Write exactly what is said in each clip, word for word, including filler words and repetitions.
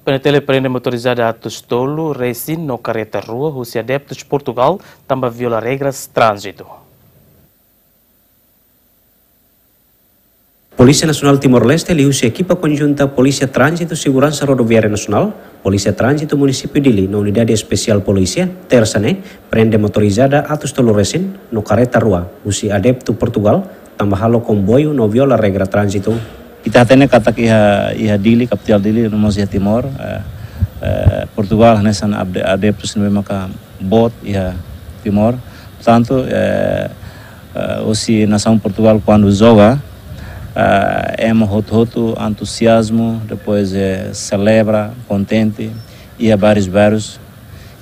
PNTL prende motorizada atus tolu resin no kareta rua husi adeptus Portugal tanba viola regras tránzitu. Polísia Nasionál Timor-Leste liuhusi ekipa konjunta Polísia Tránzitu Seguransa Rodoviária Nasionál, Polísia Tránzitu Munisípiu Dili no Unidade Espesiál Polísia, Tersa ne'e, prende motorizada atus tolu resin no kareta rua husi adeptu Portugal tanba halo komboiu no viola regra tránzitu. Ita hatene katak iha, iha Dili, kapital Dili, no mós iha Timor, eh, eh, Portugal hanesan ade-, adeptus ne'ebé maka boot iha Timor. Portantu, eh, eh, husi nasaun Portugal kuandu joga, eh, ema hotu-hotu entuziazmu, depois, eh, selebra, kontente, iha várius bairrus.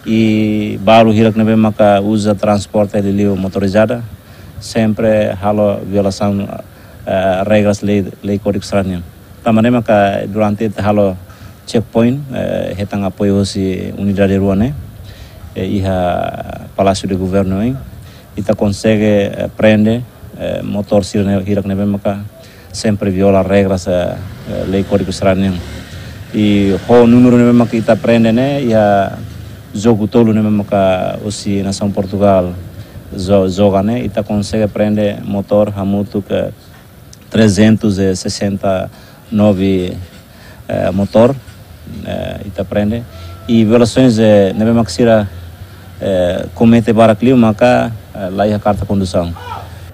I balu hirak ne'ebé maka uza transporte liuliu motorizada, sempre halo violasaun, eh, regras lei, lei Kódigu Estrada nian. Tanba ne'e maka durante ita halo checkpoint, eh, hetan apoiu husi unidade rua ne'e, eh, iha Palácio de Governo, hein. Ita konsege, eh, prende, eh, motór sira ne'e, hirak ne'ebé maka sempre viola regras, eh, eh, lei Kódigu Estrada nian. I ho númeru ne'ebé maka ita prende ne'e, iha jogu tolu ne'ebé maka husi nasaun Portugal jo-, joga ne'e, ita konsege prende motór hamutuk trezentos e sessenta e nove, eh, motór, eh, ita prende. I violasoens, eh, ne'ebé maka sira, eh, komete barak liu maka, eh, la iha karta kondusaun.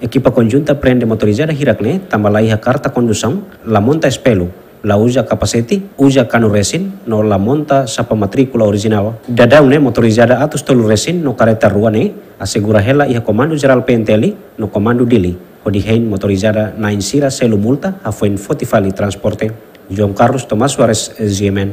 Ekipa konjunta prende motorizada hirak ne'e tanba la iha karta kondusaun, la monta espelu, la uza kapasete, uza kanu resin, no la monta xapa matríkula orijinál. Daudaun ne'e motorizada atus tolu resin no kareta rua ne'e asegura hela iha Komandu Jerál PNTL no Komandu Dili, hodi hein motorizada na'in sira selu multa, hafoin foti fali transporte. João Carlos Tomás Soares, G M N.